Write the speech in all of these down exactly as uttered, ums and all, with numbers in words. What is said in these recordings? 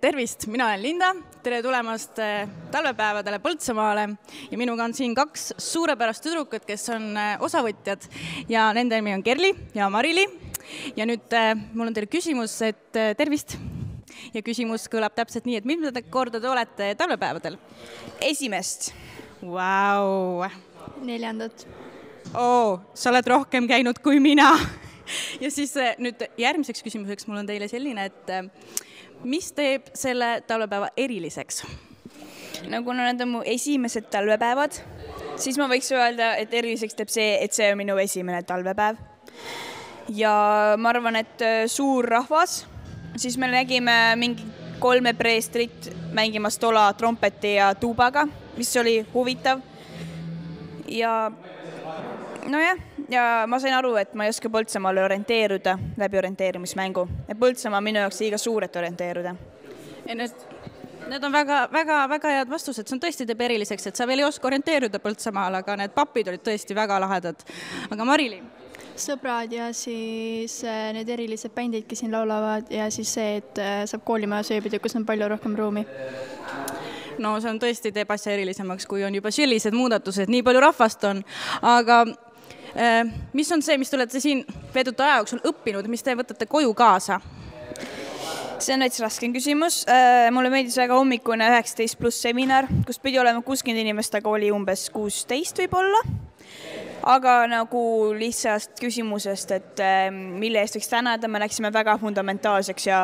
tervist, mina olen Linda, tere tulemast talvepäevadele Põltsamaale ja minuga on siin kaks suurepärast tüdrukut, kes on osavõtjad ja nende nimi on Kerli ja Marili. Ja nüüd mul on teile küsimus, et tervist. Ja küsimus kõlab täpselt nii, et milline korda te olete talvepäevadel? Esimest. Vau! Neljandat. Oo, sa oled rohkem käinud kui mina. Ja siis nüüd järgmiseks küsimuseks mul on teile selline, et mis teeb selle talvepäeva eriliseks? No kuna need on mu esimesed talvepäevad, siis ma võiks öelda, et eriliseks teeb see, et see on minu esimene talvepäev. Ja ma arvan, et suur rahvas, siis me nägime mingi kolme preestrit mängimas tola trompeti ja tuubaga, mis oli huvitav. Ja no jah, ja ma sain aru, et ma ei oska Põltsamaale orienteeruda läbi orienteerimismängu. Ja Põltsamaa minu jaoks liiga suur, et orienteeruda. Ja need, need on väga, väga, väga head vastused. See on tõesti teeb eriliseks, et sa veel ei oska orienteeruda Põltsamaal, aga need papid olid tõesti väga lahedad. Aga Marili? Sõbrad ja siis need erilised bändid, kes siin laulavad ja siis see, et saab koolimaja sööbida, kus on palju rohkem ruumi. No see on tõesti teeb asja erilisemaks, kui on juba sellised muudatused, nii palju rahvast on. Aga eh, mis on see, mis te olete siin veeduta aja jooksul õppinud, mis te võtate koju kaasa? See on näiteks raskem küsimus. Mulle meeldis väga hommikune üheksateist pluss seminar, kus pidi olema kuuskümmend inimest, aga oli umbes kuusteist võib olla. Aga nagu lihtsast küsimusest, et mille eest võiks tänada, me läksime väga fundamentaalseks ja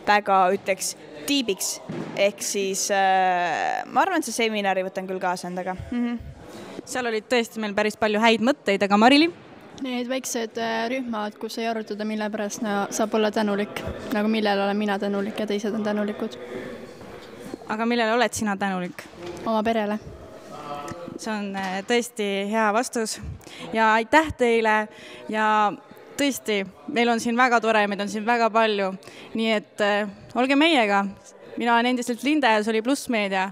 väga, ütleks, tiibiks. Ehk siis ma arvan, et see seminari võtan küll kaasa endaga. Mm-hmm. Seal olid tõesti meil päris palju häid mõtteid, aga Marili? Need väiksed rühmad, kus ei arutada, mille pärast no, saab olla tänulik. Nagu millel olen mina tänulik ja teised on tänulikud. Aga millele oled sina tänulik? Oma perele. See on tõesti hea vastus ja aitäh teile ja tõesti, meil on siin väga tore, meid on siin väga palju, nii et äh, olge meiega. Mina olen endiselt Linda ja see oli Pluss Meedia.